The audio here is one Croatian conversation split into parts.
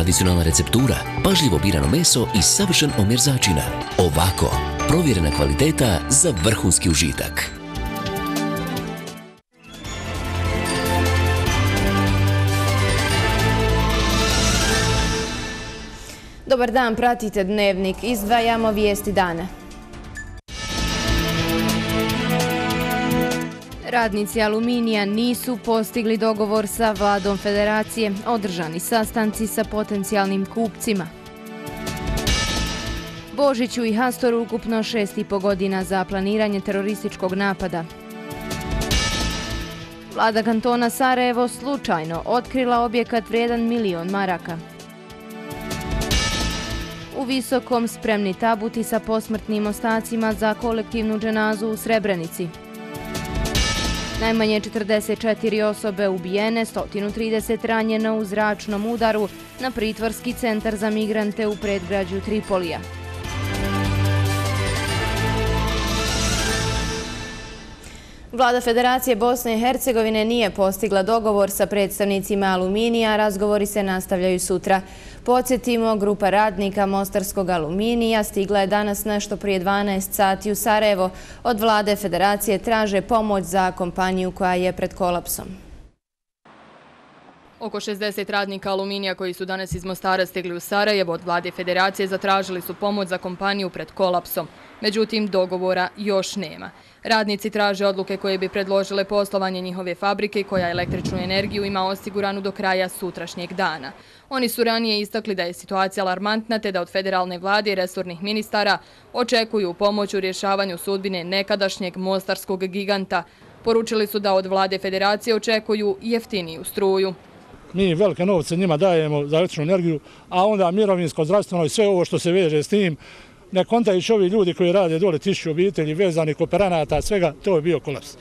tradicionalna receptura, pažljivo birano meso i savršen omjer začina. Ovako, provjerena kvaliteta za vrhunski užitak. Dobar dan, pratite Dnevnik. Izdvajamo vijesti dana. Radnici Aluminija nisu postigli dogovor sa vladom federacije, održani sastanci sa potencijalnim kupcima. Božiću i Hastoru ukupno 6,5 godina za planiranje terorističkog napada. Vlada kantona Sarajevo slučajno otkrila objekat vrijedan 1.000.000 maraka. U Visokom spremni tabuti sa posmrtnim ostacima za kolektivnu dženazu u Srebrenici. Najmanje 44 osobe ubijene, 130 ranjeno u zračnom udaru na pritvorski centar za migrante u predgrađu Tripolija. Vlada Federacije Bosne i Hercegovine nije postigla dogovor sa predstavnicima Aluminija, razgovori se nastavljaju sutra. Podsjetimo, grupa radnika Mostarskog Aluminija stigla je danas nešto prije 12 sati u Sarajevo. Od Vlade Federacije traže pomoć za kompaniju koja je pred kolapsom. Oko 60 radnika Aluminija koji su danas iz Mostara stigli u Sarajevo od Vlade Federacije zatražili su pomoć za kompaniju pred kolapsom. Međutim, dogovora još nema. Radnici traže odluke koje bi predložile poslovanje njihove fabrike koja električnu energiju ima osiguranu do kraja sutrašnjeg dana. Oni su ranije istakli da je situacija alarmantna te da od federalne vlade i resornih ministara očekuju pomoć u rješavanju sudbine nekadašnjeg mostarskog giganta. Poručili su da od Vlade Federacije očekuju jeftiniju struju. Mi velike novce njima dajemo za električnu energiju, a onda mirovinsko, zdravstveno i sve ovo što se veže s tim, ne kontajući ovi ljudi koji rade dole 1000 obitelji, vezanih kooperanata, svega, to je bio kolaps.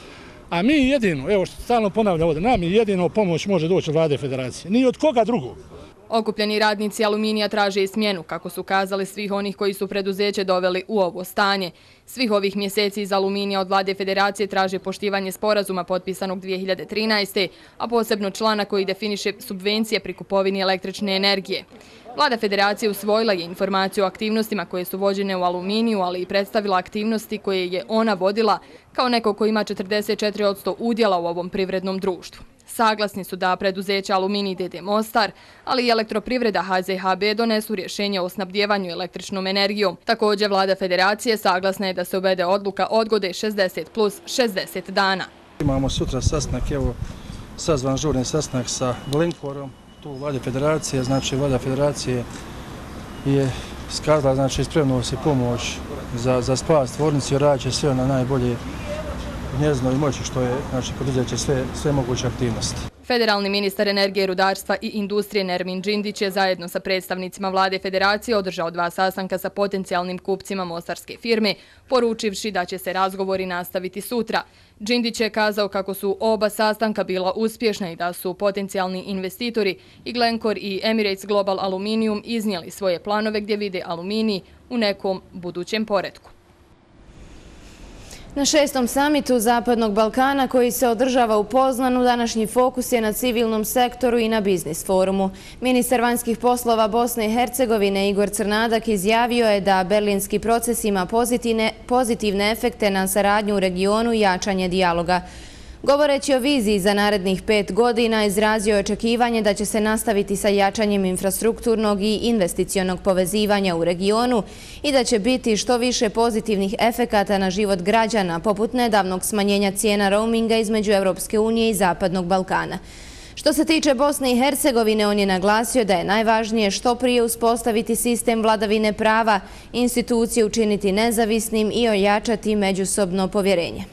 A mi jedino, evo što stalno ponavljam ovdje, nam jedino pomoć može doći od Vlade Federacije, ni od koga drugog. Okupljeni radnici Aluminija traže i smjenu, kako su kazali, svih onih koji su preduzeće doveli u ovo stanje. Svih ovih mjeseci iz Aluminija od Vlade Federacije traže poštivanje sporazuma potpisanog 2013. a posebno člana koji definiše subvencije pri kupovini električne energije. Vlada Federacije usvojila je informaciju o aktivnostima koje su vođene u Aluminiju, ali i predstavila aktivnosti koje je ona vodila kao neko ko ima 44% udjela u ovom privrednom društvu. Saglasni su da preduzeća Aluminij d.d. Mostar, ali i elektroprivreda HZHB donesu rješenje o snabdjevanju električnom energijom. Također, Vlada Federacije saglasna je da se uvede odluka odgode 60 plus 60 dana. Imamo sutra sastanak, evo sazvan žurni sastanak sa Glencoreom, tu u Vlade Federacije. Znači, Vlada Federacije je skazala, znači, spremno se pomoć za spas tvornici, radit će sve na najbolje njezinoj moći što je, znači, poduzet će sve moguće aktivnosti. Federalni ministar energije, rudarstva i industrije Nermin Džindić je zajedno sa predstavnicima Vlade Federacije održao 2 sastanka sa potencijalnim kupcima mostarske firme, poručivši da će se razgovori nastaviti sutra. Džindić je kazao kako su oba sastanka bila uspješna i da su potencijalni investitori i Glencore i Emirates Global Aluminium iznijeli svoje planove gdje vide aluminij u nekom budućem poretku. Na 6. samitu Zapadnog Balkana koji se održava u Poznanu, današnji fokus je na civilnom sektoru i na biznis forumu. Ministar vanjskih poslova Bosne i Hercegovine Igor Crnadak izjavio je da berlinski proces ima pozitivne efekte na saradnju u regionu i jačanje dijaloga. Govoreći o viziji za narednih 5 godina, izrazio je očekivanje da će se nastaviti sa jačanjem infrastrukturnog i investicionog povezivanja u regionu i da će biti što više pozitivnih efekata na život građana, poput nedavnog smanjenja cijena roaminga između Europske unije i Zapadnog Balkana. Što se tiče Bosne i Hercegovine, on je naglasio da je najvažnije što prije uspostaviti sistem vladavine prava, institucije učiniti nezavisnim i ojačati međusobno povjerenje.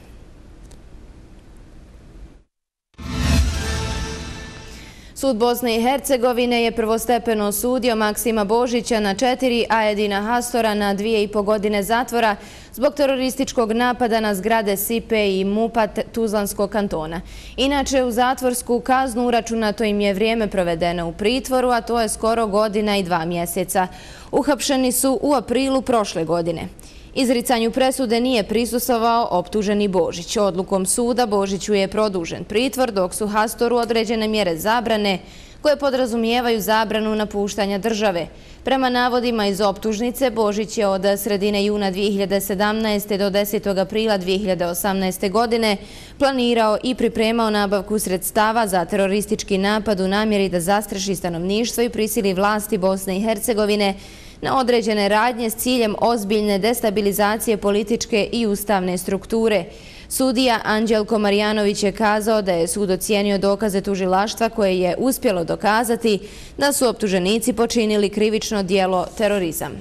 Sud Bosne i Hercegovine je prvostepeno osudio Maksima Božića na 4, a Edina Hastora na 2,5 godine zatvora zbog terorističkog napada na zgrade SIPE i MUP-a Tuzlanskog kantona. Inače, u zatvorsku kaznu uračunato im je vrijeme provedeno u pritvoru, a to je skoro 1 godina i 2 mjeseca. Uhapšeni su u aprilu prošle godine. Izricanju presude nije prisustvovao optuženi Božić. Odlukom suda Božiću je produžen pritvor, dok su Hastoru određene mjere zabrane koje podrazumijevaju zabranu napuštanja države. Prema navodima iz optužnice, Božić je od sredine juna 2017. do 10. aprila 2018. godine planirao i pripremao nabavku sredstava za teroristički napad u namjeri da zastraši stanovništvo i prisili vlasti Bosne i Hercegovine na određene radnje s ciljem ozbiljne destabilizacije političke i ustavne strukture. Sudija Anđelko Marjanović je kazao da je sud ocijenio dokaze tužilaštva koje je uspjelo dokazati da su optuženici počinili krivično djelo terorizam.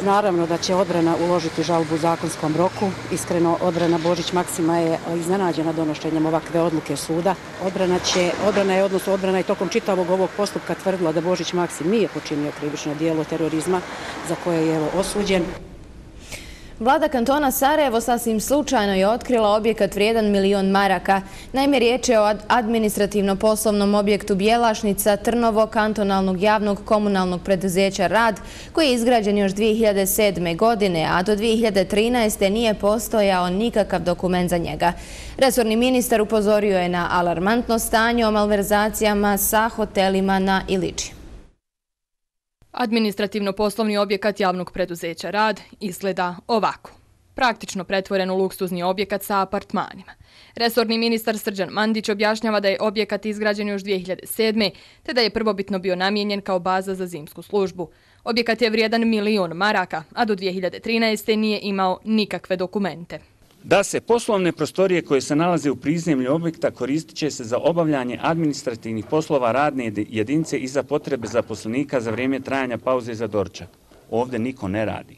Naravno da će odbrana uložiti žalbu u zakonskom roku. Iskreno, odbrana Božić Maksima je iznenađena donošenjem ovakve odluke suda. Odbrana je tokom čitavog ovog postupka tvrdila da Božić Maksim nije počinio krivično djelo terorizma za koje je osuđen. Vlada kantona Sarajevo sasvim slučajno je otkrila objekat vrijedan 1 milion maraka. Naime, riječ je o administrativno-poslovnom objektu Bjelašnica Trnovo kantonalnog javnog komunalnog preduzeća Rad, koji je izgrađen još 2007. godine, a do 2013. nije postojao nikakav dokument za njega. Resorni ministar upozorio je na alarmantno stanje o malverzacijama sa hotelima na Iliči. Administrativno-poslovni objekat javnog preduzeća Rad izgleda ovako. Praktično pretvoren u luksuzni objekat sa apartmanima. Resorni ministar Srđan Mandić objašnjava da je objekat izgrađen još 2007. te da je prvobitno bio namijenjen kao baza za zimsku službu. Objekat je vrijedan 1 milion maraka, a do 2013. nije imao nikakve dokumente. Da se poslovne prostorije koje se nalaze u prizemlju objekta koristit će se za obavljanje administrativnih poslova radne jedinice i za potrebe zaposlenika za vrijeme trajanja pauze za doručak. Ovdje niko ne radi.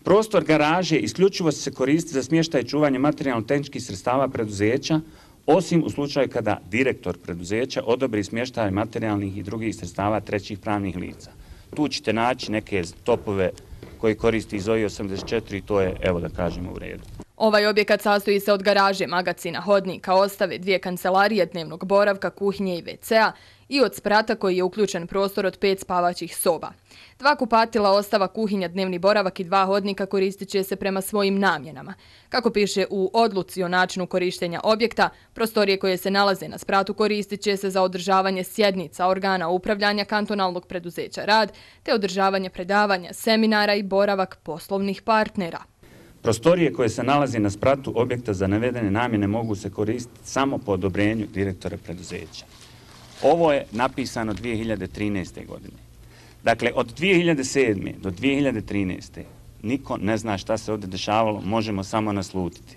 Prostor garaže isključivo se koristi za smještaj i čuvanje materijalno-tehničkih sredstava preduzeća, osim u slučaju kada direktor preduzeća odobri smještaj materijalnih i drugih sredstava trećih pravnih lica. Tu ćete naći neke topove koji koristi ZOI 84 i to je, evo da kažemo, u redu. Ovaj objekat sastoji se od garaže, magacina, hodnika, ostave, 2 kancelarije, dnevnog boravka, kuhinje i WC-a i od sprata koji je uključen prostor od 5 spavaćih soba. 2 kupatila, ostava, kuhinja, dnevni boravak i 2 hodnika koristit će se prema svojim namjenama. Kako piše u odluci o načinu korištenja objekta, prostorije koje se nalaze na spratu koristit će se za održavanje sjednica organa upravljanja kantonalnog preduzeća Rad, te održavanje predavanja, seminara i boravak poslovnih partnera. Prostorije koje se nalaze na spratu objekta za navedene namjene mogu se koristiti samo po odobrenju direktora preduzeća. Ovo je napisano 2013. godine. Dakle, od 2007. do 2013. niko ne zna šta se ovdje dešavalo, možemo samo naslutiti.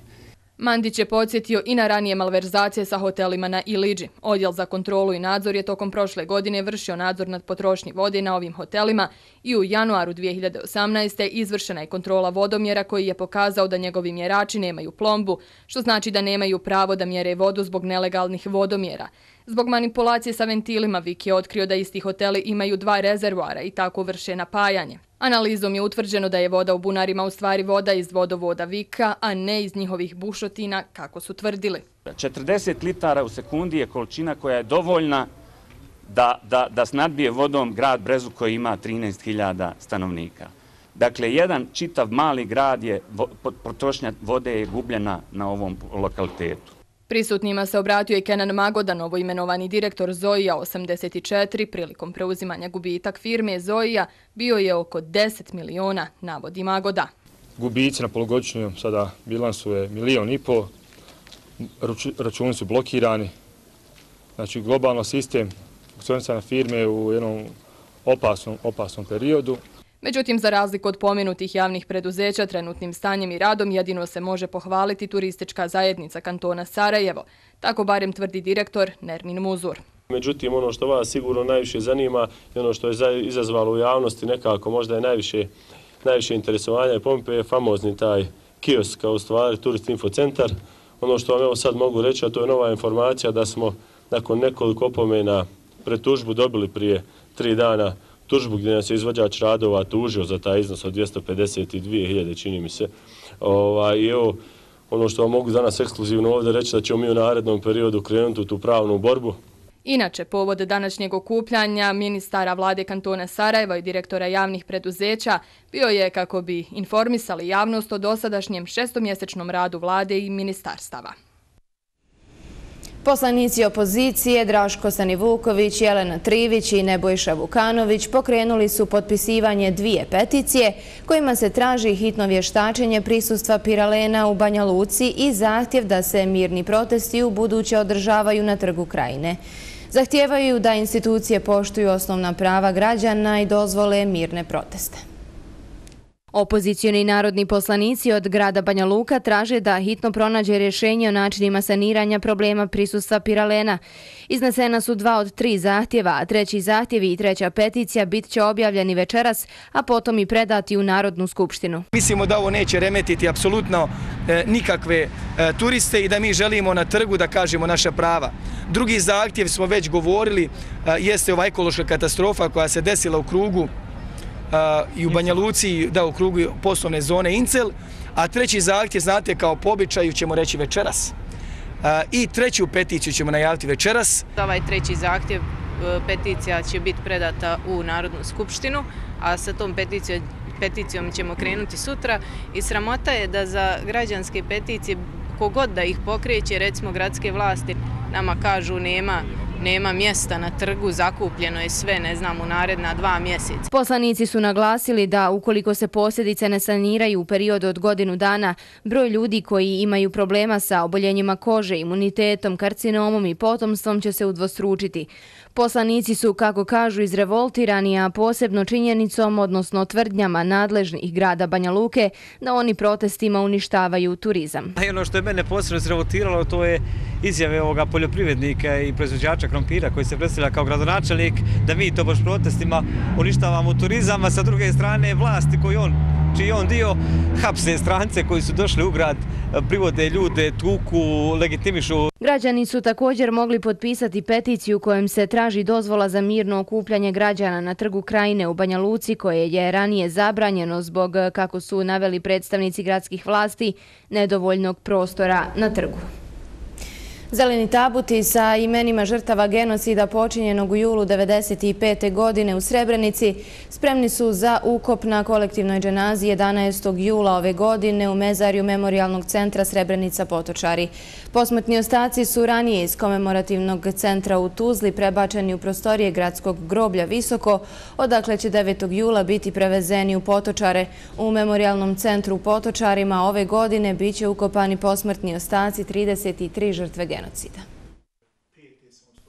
Mandić je podsjetio i na ranije malverzacije sa hotelima na Iliđi. Odjel za kontrolu i nadzor je tokom prošle godine vršio nadzor nad potrošnji vode na ovim hotelima i u januaru 2018. izvršena je kontrola vodomjera koji je pokazao da njegovi mjerači nemaju plombu, što znači da nemaju pravo da mjere vodu zbog nelegalnih vodomjera. Zbog manipulacije sa ventilima Vik je otkrio da isti hoteli imaju 2 rezervoara i tako vrše napajanje. Analizom je utvrđeno da je voda u bunarima u stvari voda iz vodovoda Vika, a ne iz njihovih bušotina, kako su tvrdili. 40 litara u sekundi je količina koja je dovoljna da snadbije vodom grad Brezu koji ima 13.000 stanovnika. Dakle, jedan čitav mali grad potrošnja vode je gubljena na ovom lokalitetu. Prisutnima se obratio i Kenan Magoda, novoimenovani direktor ZOI-a 84. Prilikom preuzimanja gubitak firme ZOI-a bio je oko 10 miliona, navodi Magoda. Gubici na polugodišnjom sada bilansu je 1,5 miliona, računi su blokirani. Znači, globalno sistem funkcionisanja firme u jednom opasnom periodu. Međutim, za razliku od pomenutih javnih preduzeća, trenutnim stanjem i radom jedino se može pohvaliti turistička zajednica kantona Sarajevo. Tako barem tvrdi direktor Nermin Muzur. Međutim, ono što vas sigurno najviše zanima i ono što je izazvalo u javnosti nekako možda je najviše interesovanja i pompe je famozni taj kiosk, kao u stvari Turist Info Centar. Ono što vam evo sad mogu reći, a to je nova informacija da smo nakon nekoliko opomena pred tužbu dobili prije 3 dana tužbu gdje nas je izvođač radova tužio za taj iznos od 252.000, čini mi se. I evo, ono što vam mogu danas ekskluzivno ovdje reći da ćemo mi u narednom periodu krenuti u tu pravnu borbu. Inače, povod današnjeg okupljanja ministara vlade kantona Sarajeva i direktora javnih preduzeća bio je kako bi informisali javnost o dosadašnjem 6-mjesečnom radu vlade i ministarstava. Poslanici opozicije Draško Stanivuković, Jelena Trivić i Nebojša Vukanović pokrenuli su potpisivanje 2 peticije kojima se traži hitno vještačenje prisustva piralena u Banja Luci i zahtjev da se mirni protesti ubuduće održavaju na Trgu Krajine. Zahtijevaju da institucije poštuju osnovna prava građana i dozvole mirne proteste. Opozicioni narodni poslanici od grada Banja Luka traže da hitno pronađe rješenje o načinima saniranja problema prisustva piralena. Iznesena su 2 od 3 zahtjeva, a 3. zahtjev i 3. peticija bit će objavljeni večeras, a potom i predati u Narodnu skupštinu. Mislimo da ovo neće remetiti apsolutno nikakve turiste i da mi želimo na trgu da kažemo naša prava. Drugi zahtjev, smo već govorili, jeste ova ekološka katastrofa koja se desila u krugu i u Banja Luci, da, u krugu poslovne zone Incel, a 3. zahtjev, znate, kao po običaju ćemo reći večeras. I 3. peticiju ćemo najaviti večeras. Ovaj 3. zahtjev, peticija će biti predata u Narodnu skupštinu, a sa tom peticijom ćemo krenuti sutra i sramota je da za građanske peticije, kogod da ih pokreće, recimo gradske vlasti, nama kažu nema mjesta na trgu, zakupljeno je sve, ne znam, u naredna 2 mjeseca. Poslanici su naglasili da ukoliko se posljedice ne saniraju u periodu od godinu dana, broj ljudi koji imaju problema sa oboljenjima kože, imunitetom, karcinomom i potomstvom će se udvostručiti. Poslanici su, kako kažu, izrevoltirani, a posebno činjenicom, odnosno tvrdnjama nadležnih grada Banja Luke, da oni protestima uništavaju turizam. Ono što je mene posebno izrevoltiralo, to je izjave ovoga poljoprivrednika i proizvođača krompira koji se predstavlja kao gradonačelnik, da mi to baš protestima uništavamo turizam, a sa druge strane vlasti čiji on dio, hapse strance koji su došli u grad, privode ljude, tuku, legitimišu. Građani su također mogli potpisati peticiju kojom se traži dozvola za mirno okupljanje građana na Trgu Krajine u Banja Luci, koje je ranije zabranjeno zbog, kako su naveli predstavnici gradskih vlasti, nedovoljnog prostora na trgu. Zeleni tabuti sa imenima žrtava genocida počinjenog u julu 1995. godine u Srebrenici spremni su za ukop na kolektivnoj dženazi 11. jula ove godine u mezarju Memorijalnog centra Srebrenica Potočari. Posmrtni ostaci su ranije iz komemorativnog centra u Tuzli prebačeni u prostorije gradskog groblja Visoko, odakle će 9. jula biti prevezeni u Potočare. U Memorijalnom centru u Potočarima ove godine bit će ukopani posmrtni ostaci 33 žrtve genocida.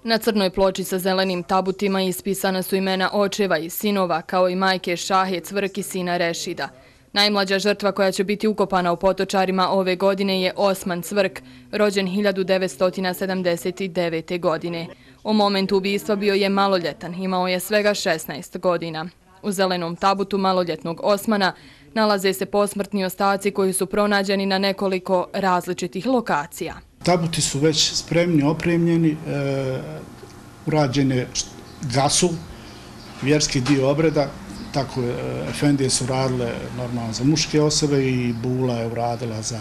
Na crnoj ploči sa zelenim tabutima ispisana su imena očeva i sinova, kao i majke Šahe Cvrk i sina Rešida. Najmlađa žrtva koja će biti ukopana u Potočarima ove godine je Osman Cvrk, rođen 1979. godine. U momentu ubistva bio je maloljetan, imao je svega 16 godina. U zelenom tabutu maloljetnog Osmana nalaze se posmrtni ostaci koji su pronađeni na nekoliko različitih lokacija. Tabuti su već spremni, opremljeni, urađene gasu, vjerski dio obreda, tako efendije su radile normalno za muške osobe i bula je uradila za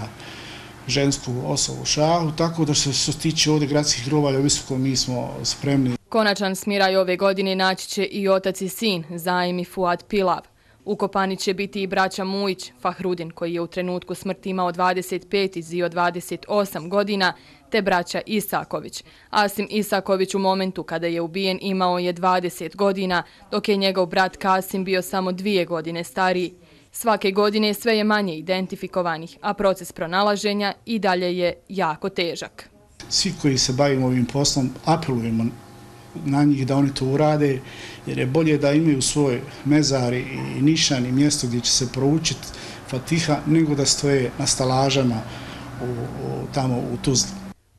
žensku osobu Šahu, tako da što se tiče ovdje gradskih grobalja u Visokom mi smo spremni. Konačan smiraj ove godine naći će i otac i sin, Zaim i Fuad Pilav. Ukopani će biti i braća Mujić, Fahrudin, koji je u trenutku smrti imao 25 i Zio 28 godina, te braća Isaković. Asim Isaković u momentu kada je ubijen imao je 20 godina, dok je njegov brat Kasim bio samo 2 godine stariji. Svake godine sve je manje identifikovanih, a proces pronalaženja i dalje je jako težak. Svi koji se bavimo ovim poslom apelujemo na njih da oni to urade, jer je bolje da imaju svoj mezar i nišan i mjesto gdje će se proučiti Fatiha, nego da stoje na stalažama tamo u Tuzli.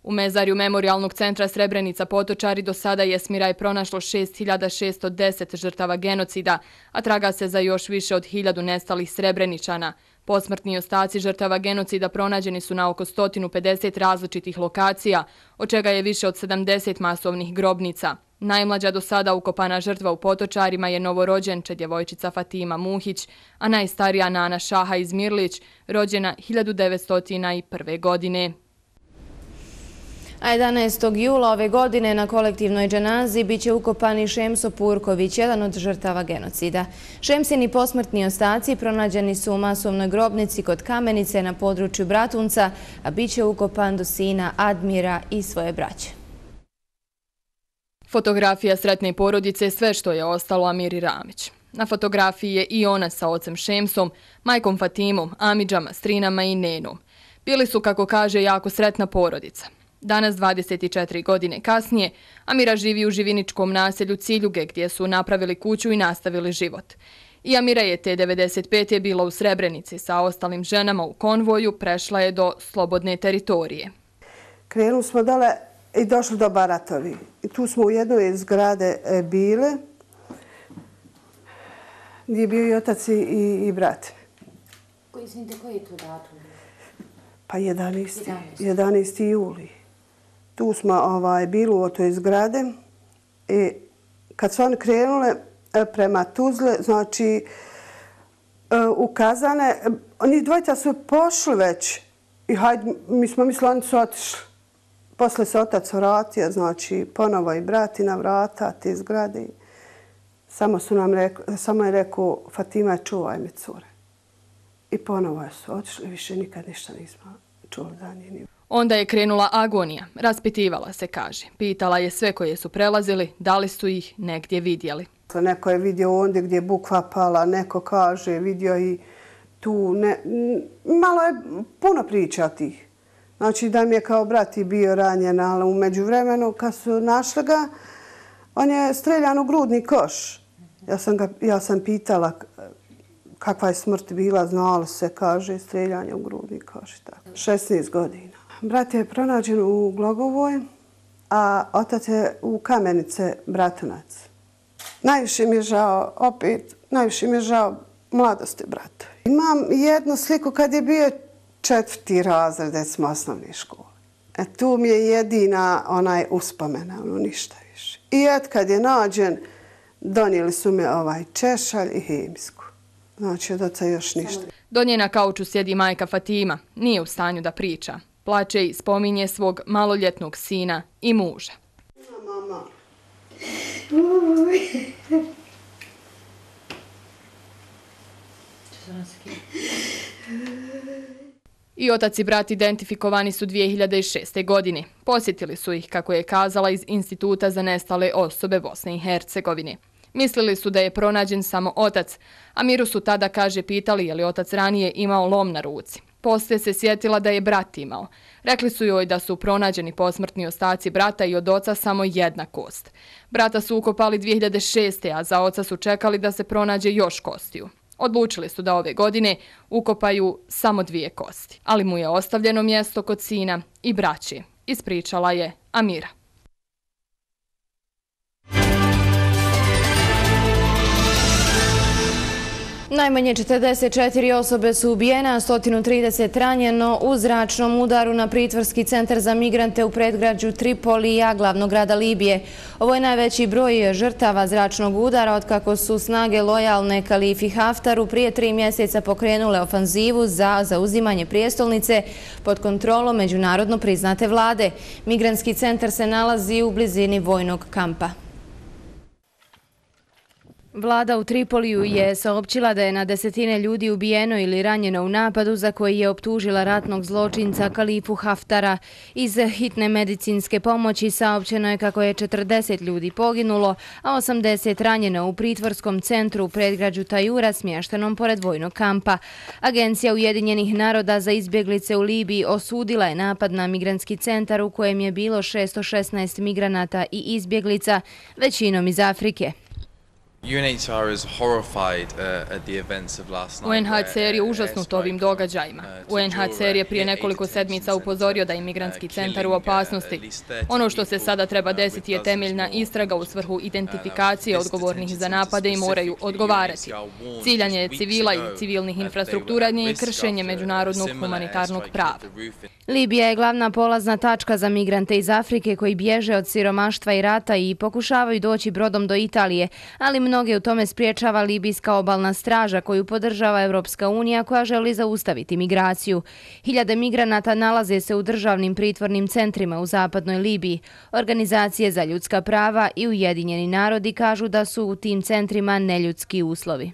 U mezarju Memorijalnog centra Srebrenica Potočari do sada je smiraj pronašlo 6610 žrtava genocida, a traga se za još više od 1000 nestalih Srebreničana. Posmrtni ostaci žrtava genocida pronađeni su na oko 150 različitih lokacija, od čega je više od 70 masovnih grobnica. Najmlađa do sada ukopana žrtva u Potočarima je novorođenče djevojčica Fatima Muhić, a najstarija Nana Šaha Izmirlić, rođena 1901. godine. A 11. jula ove godine na kolektivnoj dženazi biće ukopani Šemso Purković, jedan od žrtava genocida. Šemsini posmrtni ostaci pronađeni su u masovnoj grobnici kod Kamenice na području Bratunca, a biće ukopan do sina Admira i svoje braće. Fotografija sretne porodice je sve što je ostalo Amiri Ramić. Na fotografiji je i ona sa ocem Šemsom, majkom Fatimom, amidžama, strinama i nenom. Bili su, kako kaže, jako sretna porodica. Danas, 24 godine kasnije, Amira živi u živiničkom naselju Ciljuge, gdje su napravili kuću i nastavili život. I Amira je te 95. bila u Srebrenici sa ostalim ženama u konvoju, prešla je do slobodne teritorije. Krenuli smo dole i došli do Baratovi. I tu smo u jednoj zgrade bile, gdje je bio i otac i brat. Izvinite, koji je to datum? Pa 11. juli. Tu smo bili u toj zgrade i kad su oni krenule prema Tuzle, znači u Kazane, njih dvojica su pošli već i hajde, mi smo mislili oni su otišli. Posle se otac vratio, znači ponovo i brati na vrata te zgrade. Samo je rekao, Fatima, čuvaj me, cure. I ponovo su otišli, više nikad ništa nismo čuli za njih. Onda je krenula agonija, raspitivala se, kaže. Pitala je sve koje su prelazili, da li su ih negdje vidjeli. Neko je vidio ondje gdje je bukva pala, neko kaže, vidio i tu. Malo je puno priča tih. Znači da mi je kao brat i bio ranjen, ali u međuvremenu kad su našli ga, on je streljan u grudni koš. Ja sam pitala kakva je smrt bila, znalo se, kaže, streljanje u grudni koš. 16 godina. Brat je pronađen u Glogovoj, a otac je u Kamenice, Bratunac. Najviše mi je žao mladosti brata. Imam jednu sliku kad je bio 4. razred, recimo, osnovne škole. Tu mi je jedina uspomena, ništa više. I kad je nađen, donijeli su mi češalj i hemijsku. Znači, od oca još ništa. Do nje na kauču sjedi majka Fatima. Nije u stanju da priča. Plače i spominje svog maloljetnog sina i muža. Mama. I otac i brat identifikovani su 2006. godine. Posjetili su ih, kako je kazala, iz Instituta za nestale osobe Bosne i Hercegovine. Mislili su da je pronađen samo otac, a Miru su tada, kaže, pitali je li otac ranije imao lom na ruci. Poslije se sjetila da je brat imao. Rekli su joj da su pronađeni posmrtni ostaci brata i od oca samo jedna kost. Brata su ukopali 2006. a za oca su čekali da se pronađe još kostiju. Odlučili su da ove godine ukopaju samo 2 kosti, ali mu je ostavljeno mjesto kod sina i braće, ispričala je Amira. Najmanje 44 osobe su ubijene, a 130 ranjeno u zračnom udaru na pritvorski centar za migrante u predgrađu Tripolija, glavnog grada Libije. Ovo je najveći broj žrtava zračnog udara otkako su snage lojalne Kalifi Haftaru prije 3 mjeseca pokrenule ofanzivu za zauzimanje prijestolnice pod kontrolom međunarodno priznate vlade. Migrantski centar se nalazi u blizini vojnog kampa. Vlada u Tripoliju je saopćila da je na desetine ljudi ubijeno ili ranjeno u napadu za koji je optužila ratnog zločinca Kalifu Haftara. Iz hitne medicinske pomoći saopćeno je kako je 40 ljudi poginulo, a 80 ranjeno u pritvorskom centru u predgrađu Tajura smještenom pored vojnog kampa. Agencija Ujedinjenih naroda za izbjeglice u Libiji osudila je napad na migrantski centar u kojem je bilo 616 migranata i izbjeglica, većinom iz Afrike. UNHCR je užasnut ovim događajima. UNHCR je prije nekoliko sedmica upozorio da je migrantski centar u opasnosti. Ono što se sada treba desiti je temeljna istraga u svrhu identifikacije odgovornih za napade i moraju odgovarati. Ciljanje civila i civilnih infrastruktura nije kršenje međunarodnog humanitarnog prava. Libija je glavna polazna tačka za migrante iz Afrike koji bježe od siromaštva i rata i pokušavaju doći brodom do Italije, ali mnoge u tome spriječava libijska obalna straža koju podržava Evropska unija koja želi zaustaviti migraciju. Hiljade migranata nalaze se u državnim pritvornim centrima u zapadnoj Libiji. Organizacije za ljudska prava i Ujedinjeni narodi kažu da su u tim centrima neljudski uslovi.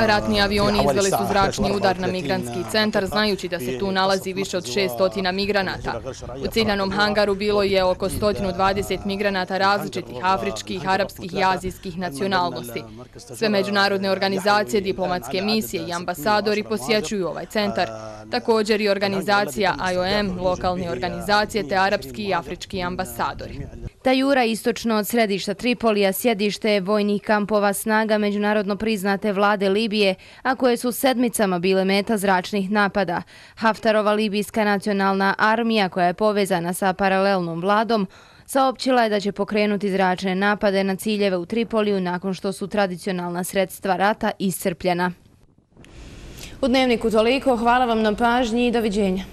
Ratni avioni izveli su zračni udar na migrantski centar, znajući da se tu nalazi više od 600 migranata. U ciljanom hangaru bilo je oko 120 migranata različitih afričkih, arapskih i azijskih nacionalnosti. Sve međunarodne organizacije, diplomatske misije i ambasadori posjećuju ovaj centar. Također i organizacija IOM, lokalne organizacije te arapski i afrički ambasadori. Tajura, istočno od središta Tripolija, sjedište je vojnih kampova snaga međunarodno priznate vlade Libije, a koje su sedmicama bile meta zračnih napada. Haftarova libijska nacionalna armija, koja je povezana sa paralelnom vladom, saopćila je da će pokrenuti zračne napade na ciljeve u Tripoliju nakon što su tradicionalna sredstva rata iscrpljena. U Dnevniku toliko, hvala vam na pažnji i doviđenja.